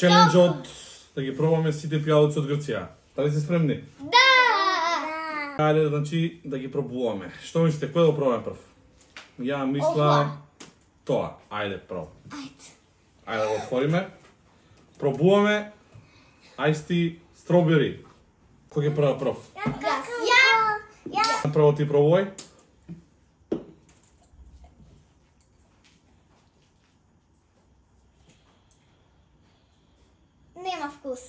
челенџот да ги пробаме сите пијалици од Грција. Дали сте спремни? Да! Ајде, значи, да ги пробуваме. Што мислите, кој да пробаме прв? Ја мислам тоа. Ајде, прво. Ајде да го отвориме. Пробуваме Ice Strawberry. Кој ќе проба прв? Ја! Прво ти пробувај. Нема вкус.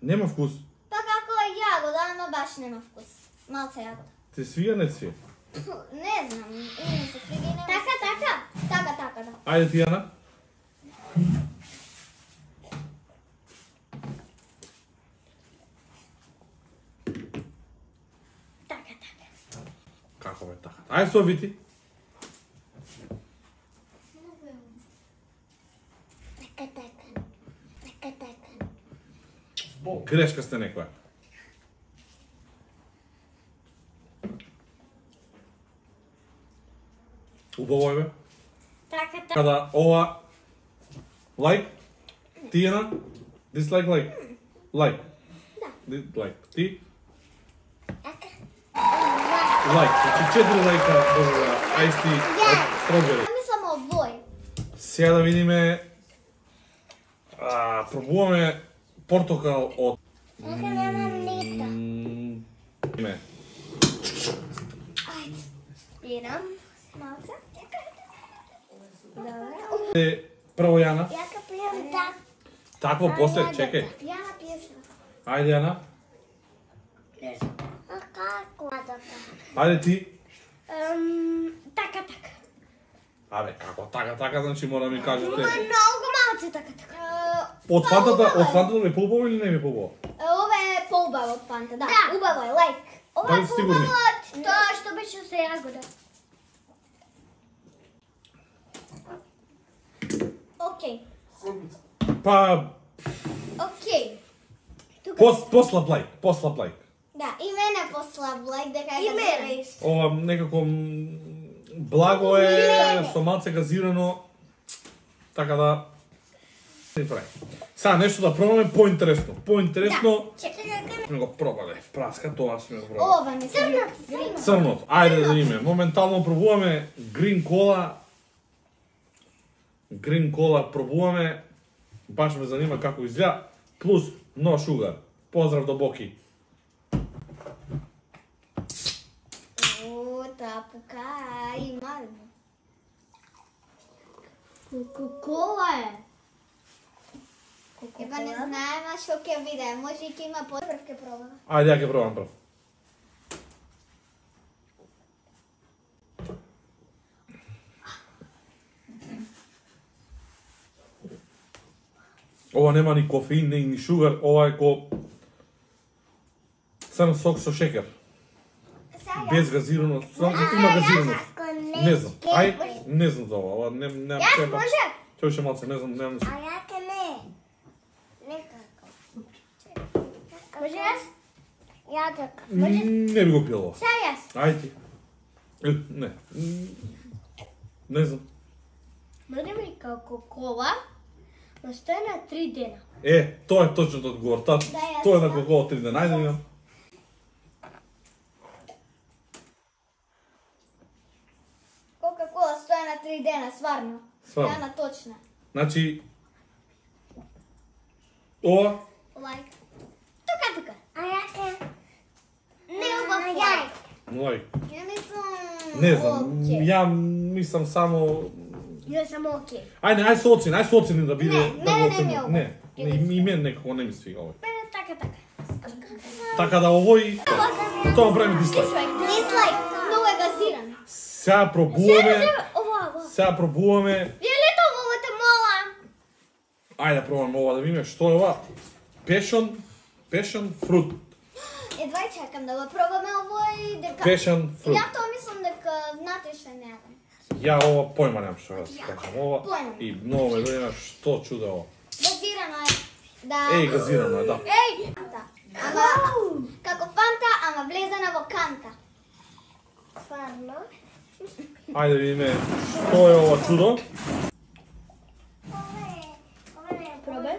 Нема вкус. Па како е јагода, ама баш нема вкус. Малце јагода. Ти свија, не свија? Не знам, или ми се свига и нема. Така, да. Ајде ти, Јана. Така. Како бе така? Ајде со вити. Така. Грешка сте некоја. Убаво е бе. Така. Када ова лайк, ти Јана, дислайк лайк. Лайк. Лайк. Ти? Лайк. Значи 4 лайка од Ice Strawberry. Мислам овој. Сега да видиме, пробуваме портокал од... Не. Спирам. Малце. Добре. Прво Јана. Ја ка пијам так. Такво после, чекај. Јана пиеш. Ајде Јана. Како? Ајде ти. Така. Абе, како така, значи мора да ми кажете. Многу малце така. Од фантата ми побаво или не ми побаво? Ова е поубаво од фанта, да. Убаво е, лайк. Ова Дали е сте сигурни? поубаво од тоа што беше со јагода. Океј. Па, Океј. послаб лайк. Да, и мене послаб лайк дека е газиран. Ова некако благо е, со малце газирано, така да не прави. Сега нешто да пробаме поинтересно. Чекај. Сме го пробале. Праска, тоа сме го пробале. Ова не се. Црното. Ајде да видиме. Моментално пробуваме Green Cola. Green Cola пробуваме. Баш ме занима како изгледа. Плюс no sugar. Поздрав до Боки. Тапука има. Кока-кола е. Еба не знаеме што ќе биде. Може и ќе има прв ќе пробам. Ајде, ја ќе пробам прв. Ова нема ни кофеин, ни шугар, ова е ко црн сок со шекер. Без газирано, има газирано. Не знам. Не знам за ова, не Јас може? Ќе малце, не знам. А ја ке не. Некако. Може јас? Ја така. Не би го пил ова. Сега јас. Ајде. Не. Не знам. Може ми како кола, но стои на 3 дена. Тоа е точно одговор. Тоа е на Кока-Кола 3 дена. Ајде видам. Кока-кола стои на 3 дена, сварно. Сварно. Јана точна. Значи, ова, Лайк. Тука. А ја ке... Не убав лайк. лайк. Ја мислам... Не знам, окей. ја мислам само... Ја само окей. Ајде со оцени да биде... Не, да мене го не ми е оценим. Не, и мен некако не ми свига овој. Мене така. Така да овој... Тоа прави дислайк. Дислайк. Многу е газиран. Сега пробуваме... Ова. Сега пробуваме... Виолето, многу те молам. Ајде да пробаме ова да видиме што е ова. Passion fruit. Едва чекам да го пробаме овој дека... Passion fruit. Ја тоа мислам дека внатрешно не е. Ја ова појма немам што да се кажам ова. Појма. И многу ме дојна што чуде ова. Газирано е. Да. Газирано е, да. Ама, како фанта, ама влезена во канта. Стварно. Ајде да видиме што е ова чудо. Пробај.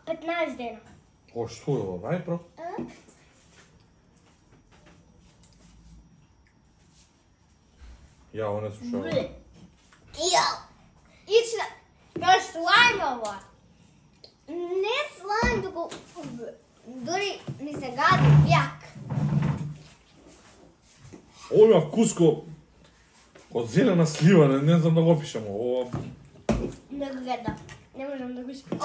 15 дена. О, што е ова? Ај, про. Ја, ово не слушам. Јау. Ична. Тоа е слајм ова. Не слајм, туку дури ми се гади јак. Ово има вкуско од зелена слива, не знам да го опишам. Ова Не го гледам. Не можам да го испитам.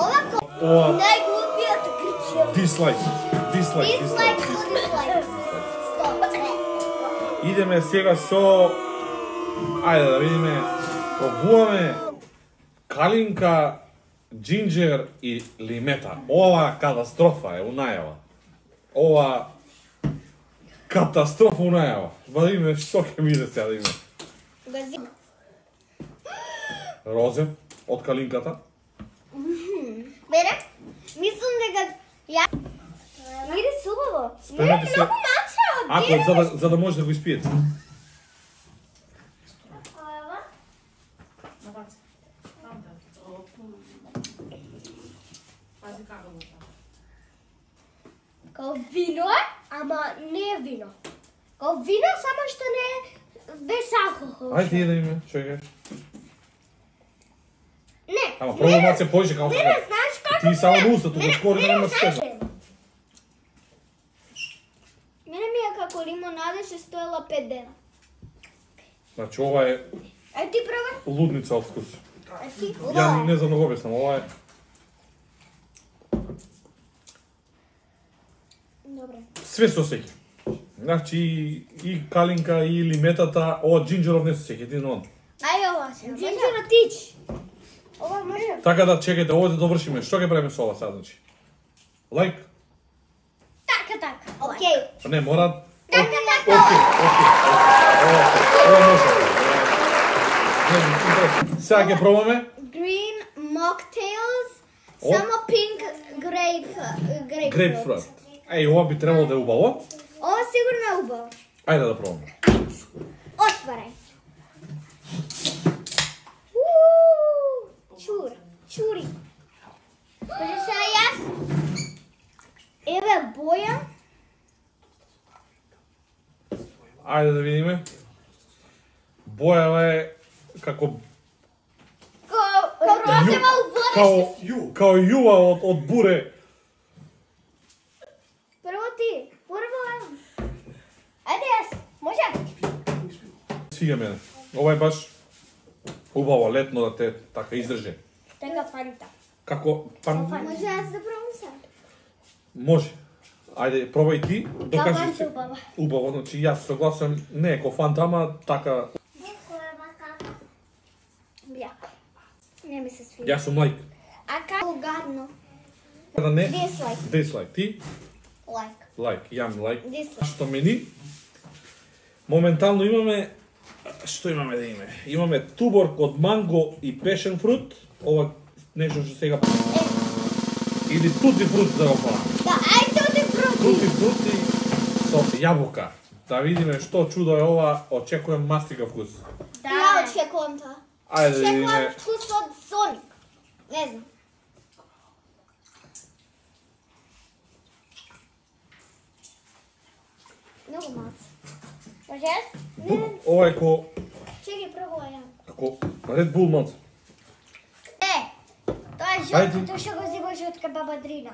ова Најглупиот кричи. дислайк. Дислайк, дислайк. Стоп. Идеме сега со ајде да видиме. Пробуваме калинка, джинџер и лимета. Ова катастрофа е у најава. Ова катастрофа у најава. Ба да видиме што ќе биде сега да видиме. Гази. Розе од калинката. Бере, мислам дека ја мири субаво. Спремете се. Многу мача. Ако за да може да го испиете. Као вино е, ама не е вино. Као вино, само што не е без алкохол. Ајде да видиме, што ќе. Не. Ама пробај малце поише како Не, знаеш како? Ти само на устата, скоро да немаш знаеш. чеша. Мене ми е како лимонада што стоела 5 дена. Значи ова е Ај ти пробај. лудница од вкус. А ти? Ја не знам да го објаснам, ова е Добре. све со сеќа. Значи и калинка и лиметата, ова джинџеров не се сеќа, ти знам. Ајде ова се. Джинџер тич. Ова може. Така да чекајте, ова да довршиме. Што ќе правиме со ова сега, значи? Лайк? Така. Океј. Не, мора. Така. Океј. Ова може. Сега ќе пробаме. Green mocktails. О. Само pink Грейпфрут. Еј, ова би требало да е убаво. Ова сигурно е убаво. Ајде да пробаме. Отварај. Чури. Може сега јас? Еве боја. Ајде да видиме. Бојава е како Розева у водеште. као јува од буре. Прво ти. Прво ево. Ајде јас. Може? Свига мене. Ова е баш убаво летно да те така издржи. Така фанта. Како Може јас да пробам сега? може. Ајде, пробај ти, докажи Фанта се. убава. Убаво, значи јас согласен, не е ко фанта, ама така. Бјако. Не ми се свиѓа. Јас сум лайк. А како гадно? Да не. Dislike. Dislike. Ти? Лайк. Лайк. Јам лайк. Dislike. Што мени? Моментално имаме што имаме да имаме? Имаме туборк од манго и пешен фрут. Ова нешто што сега или тути фрут да го правиме. Да, ајде оди проти. Тути фрути со јабука. Да видиме што чудо е ова, очекувам мастика вкус. Ја очекувам тоа. Ајде да Очекувам видиме. вкус од Соник. Не знам. Многу малце. Може јас? Ова е ко Чекај, пробува ја. како Red Bull малце. Тоа е Ајде. жолтото што го зимаш од баба Дрина.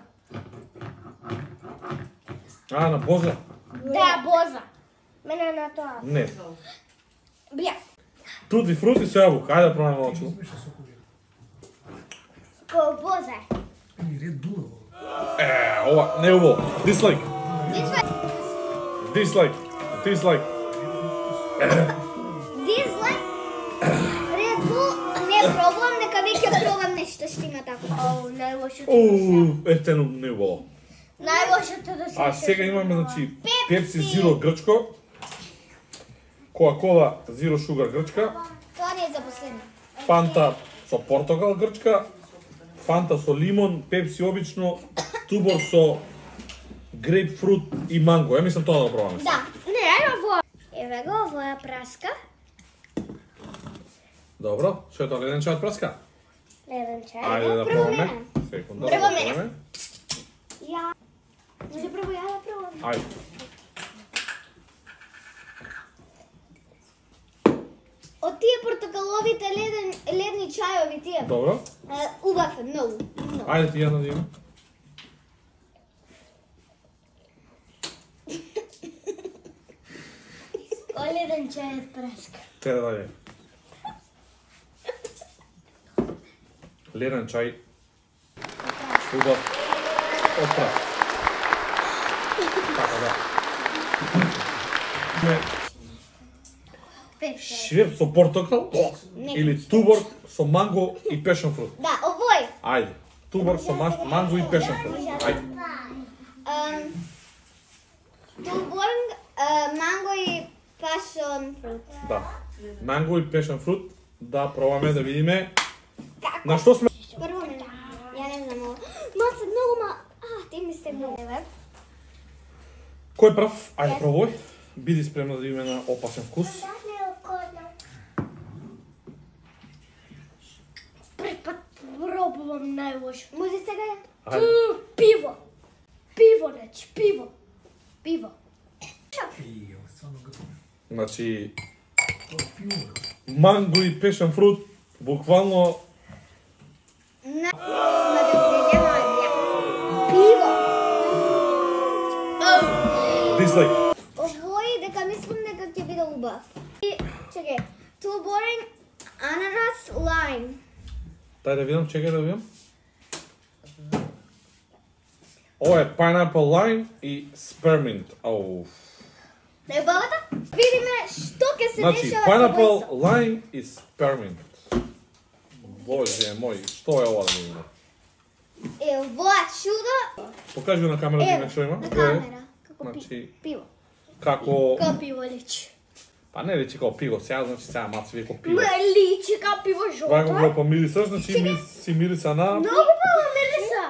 А, на боза? Да, боза. Мене на тоа. Не. Бија. Тути фрути со јабука. Ајде да пробаме малку. Ко боза е. Ова не е убаво. Дислайк. Дислайк. Дислайк. Дислайк. Дизлайк. Red Bull. Не пробувам, нека веќе пробам нешто што има така. Оу, најлошото. Ете, не е убаво. Најлошото да се. А сега имаме, значи, Pepsi Zero грчко, Coca-Cola Zero Sugar грчка, Тоа не е за последно. Фанта со портокал грчка, Фанта со лимон, Pepsi обично, тубор со грейпфрут и манго. Ја мислам тоа да го пробаме. Да. Не, ајде во. Еве го, овоја праска. Добро, што е тоа, леден чај од праска? Леден чај. Ајде да пробаме. Секунда, да Прво мене. пробаме. Може прво ја да пробам. Ајде. Од тие портокаловите ледни чајови тие. Добро. Убав е, многу. Ајде ти ја да има. Леден чај од праска. Каде да е? Леден чај. Убав. Од прав. Така да. Швеп со портокал или туборг со манго и пешен фрут. Да, овој. Ајде. Туборг со манго и пешен фрут. Ајде. Туборг, манго и пашон фрут. Да. Манго и пешен фрут. Да пробаме да видиме. На што сме? Прво не. Ја не знам ово. Маца многу ти ми сте многу. Кој прав? Ајде пробој. Биди спремна да видиме на опасен вкус. Пред пат пробувам најлошо. Може сега ја? Ајде. Пиво. Пиво, значи, пиво. Пиво. Значи манго и пешен фрут буквално На пиво. дислайк. Овој дека мислам дека ќе биде убав. И чекај, туборг, ананас, лайм. Дај да видам, чекај да видам. Ова е pineapple lime и spearmint. Ау. Не бабата? Видиме што ќе се Значи, дешава pineapple со lime и spearmint. Боже мој, што е ова да видиме? Ова чудо. Покажи го на камера да видиме што има. На Тоа е, камера. Како значи, пиво. како... Ка пиво личи. Па не речи како пиво, сега значи сега маци веко пиво. Ме личи ка пиво Вако жолто. го помирисаш, значи си мириса на... Многу пиво мириса.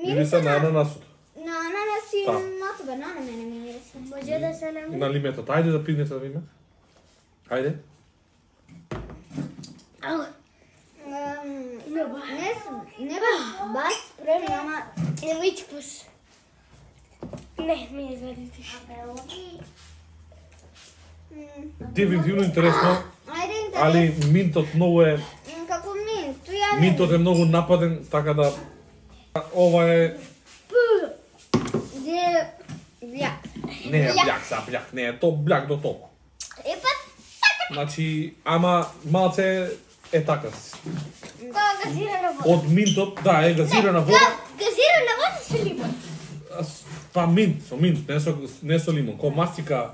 Мириса на ананасот. На ананас и Да. мацо банана мене ми мириса. Може да се намери. На лиметот. Ајде да пиднете да видиме. Ајде. Ау. Не ба. Не ба, баш спремна, ама Не вич пус. Не, ми извадите. Дефинитивно интересно, ајде интерес. али минтот многу е... Како минт, ја не. Минтот е многу нападен, така да... Ова е... Де бљак. Не е бљак за бљак, не е то бљак до толку. Епа, Значи, ама малце е така. Кога газирана вода. Од минтот, да, е газирана вода. Газирана вода со лимон. Па минт, со минт, не со лимон. Ко мастика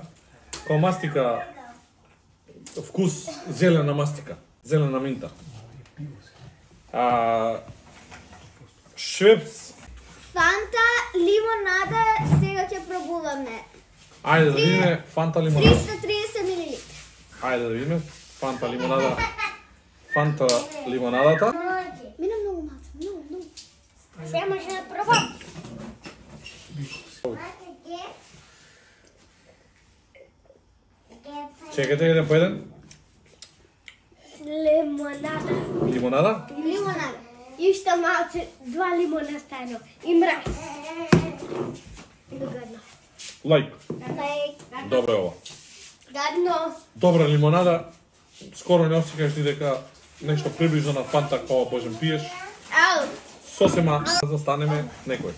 вкус зелена мастика, зелена минта. Швепс, фанта, лимонада, сега ќе пробуваме. ајде да видиме фанта лимонада. 330 мл. Ајде да видиме фанта лимонада. Фанта лимонадата. Мина многу маца, многу. Сега може да пробам. Чекайте еден по еден. Лимонада. Лимонада. Лимонада. И уште малце, 2 лимона стано. И мраз. Гадно. Лајк. Лајк. Добро е ова. Гадно. Добра лимонада. Скоро не осеќаш ни дека нешто приближно на фанта кога можем пиеш. Ау. Сосема застанеме некој.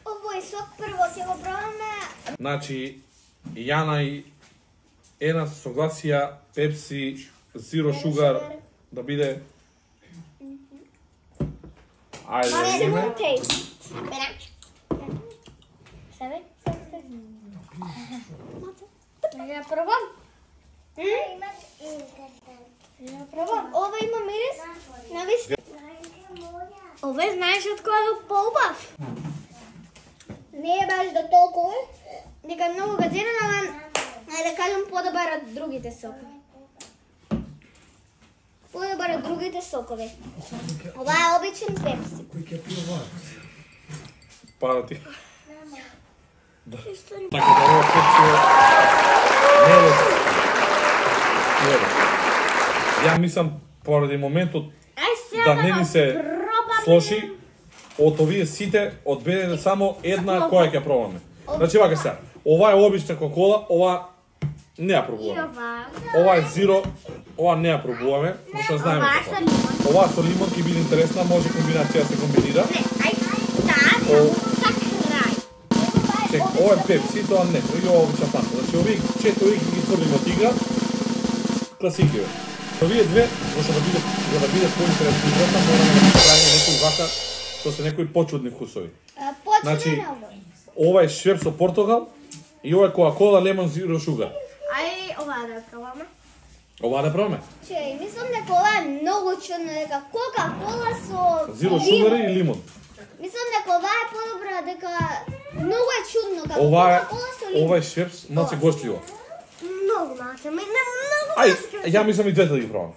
Овој сок прво ќе го пробаме. Значи, Јана и Ена се согласија Pepsi Zero Sugar да биде. Ајде да видиме. Taste. Себе? Ja пробам. Ja пробам. Ова има мирис на виски. Ове знаеш од кој е поубав? Не е баш до толку. Дека е многу газиран, ама ајде да кажам подобар од другите сокови. Подобар од другите сокови. Ова е обичен пепси. Пара ти. Да. Така да ова Pepsi не е лошо. Не е лошо. Ја мислам поради моментот Ај сега да не ни се пробам. слоши, од овие сите одберете само една која ќе пробаме. Значи вака сега. Ова е обична Кока-кола, ова не ја пробуваме. Ова е зиро, ова не ја пробуваме, зашто знаеме како. Ова со лимон ќе биде интересна, може комбинација да се комбинира. Не, ајде, за крај. Чек, ова е пепси, тоа не, и ова е шампанска. Значи овие четири ги стврдиме од игра, класики. Овие две, зашто да биде поинтересно играта, мораме да правиме некој вака со се некои почудни вкусови. Значи, ова е швеп со портокал и ова е Кока-кола Lemon Zero Sugar. Ај, ова да пробаме. Ова да пробаме. Чеј, мислам дека ова е многу чудно, дека Кока-кола со Zero Sugar и лимон. Мислам дека ова е подобра, дека многу е чудно како Ова Кока-кола со лимон. е швепс малце гостливо. Многу малце, не многу. Ај, ја мислам и двете да ги пробам.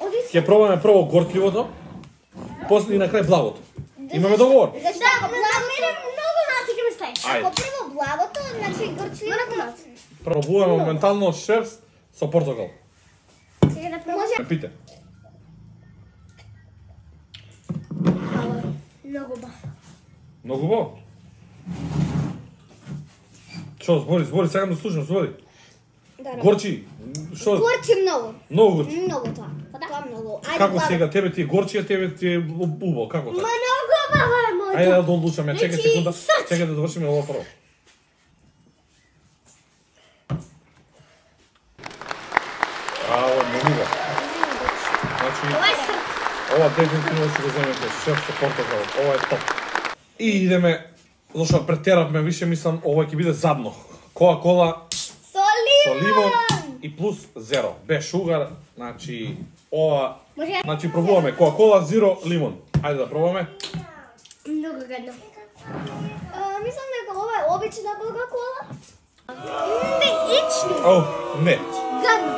Оди Ќе пробаме прво горкливото, после и на крај благото. Имаме договор. Зашто ако Мене многу малце ќе ме стаи. Ако прво благото, значи горчливото. Пробуваме моментално швепс со портокал. Сега да пробам. Може Пите. Многу ба. Многу бо. Што, збори, сакам да слушам, збори. да. Горчи, што? Горчи многу. Многу горчи. Многу тоа. Тоа многу. Ајде. Како благо. сега, тебе ти е горчи, а тебе ти е убо, како така? Многу баба е мојата. Ајде да додлучаме, чекај Значи, секунда, сад. чекај да довршиме ова прво. Ова е многу убаво. Значи, Ова е срп. ова дефинитивно си го земете, шеф со портокал, ова е топ. И идеме, зашто претеравме, више мислам, ова ќе биде задно. Кока-кола Со со лимон. лимон и плюс зеро, без шугар, значи ова, Може значи пробуваме Кока-кола зеро лимон. Ајде да пробаме. многу гадно. Мислам дека ова е обична Кока-кола. Не, ични. О, не. Гадно.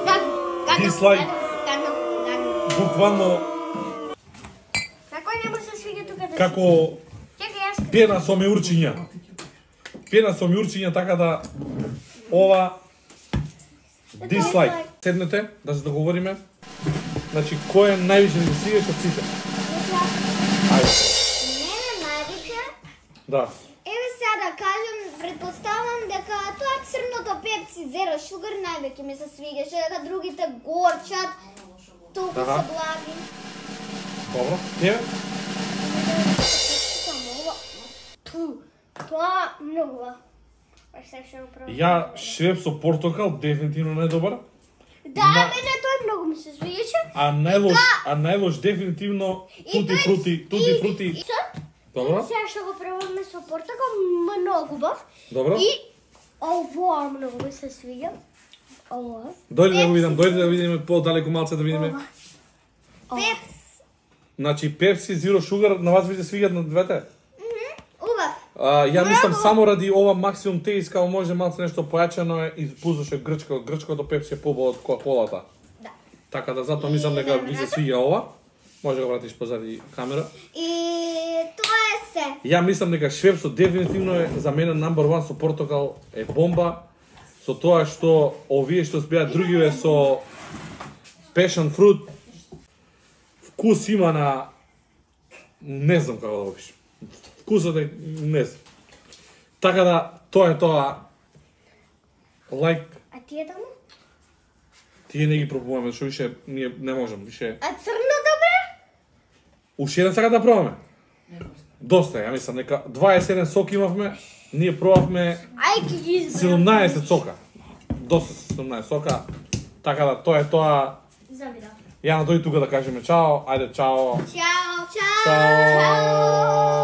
Гадно. Гадно. Дислайк. Гадно. Гадно. Буквално Како не може да свига тука да. како Чекај јас. пена со миурчиња. Пена со миурчиња, така да ова дислайк. Седнете да се договориме. Значи кој е највише да свига од сите? Ајде. Мене највише. Да. Еве сега да кажем, предпоставам дека тоа црното пепси Zero Sugar највеќе ми се свигаше, дека другите горчат, толку Аха. се благи. Добро. Тебе? Тоа многу ба. Сега ќе го пробам. Ја швеп со портокал дефинитивно не е добар. Да, На- мене тој многу ми се свиѓаше. А најлош дефинитивно тути фрути. Со? Добро? Сега ќе го пробаме со портокал, многу бав. Добро? И ова многу ми се свиѓа. Ова. Дојде да го видам, дојде да видиме подалеку малце да видиме. Пепс. Значи Пепси Zero Sugar на вас ви се свиѓат на двете? Убав. Ја мислам само ради ова максимум теист, као може малце нешто појачено е и пуздаше грчкото Пепси е побо од Кока-колата. Да. Така да затоа мислам дека ви се свиѓа ова. Може да го вратиш позади камера. И тоа е се. Ја мислам дека швепсот дефинитивно е за мене number one со портокал е бомба. Со тоа што овие што беа другиве со passion fruit вкус има на не знам како да го опишам. Вкусот е не знам. Така да тоа е тоа. Лайк, А тие таму? тие не ги пробуваме, што више ние не можам, више. А црното бе? Уште еден сака да пробаме. Доста, ја мислам дека 27 сок имавме, ние пробавме Ај ќе ги изберам. 17 сока. Доста 17 сока. Така да тоа е тоа. Завидам. Јана дојди тука да кажеме чао. Ајде чао. Чао, чао. Чао.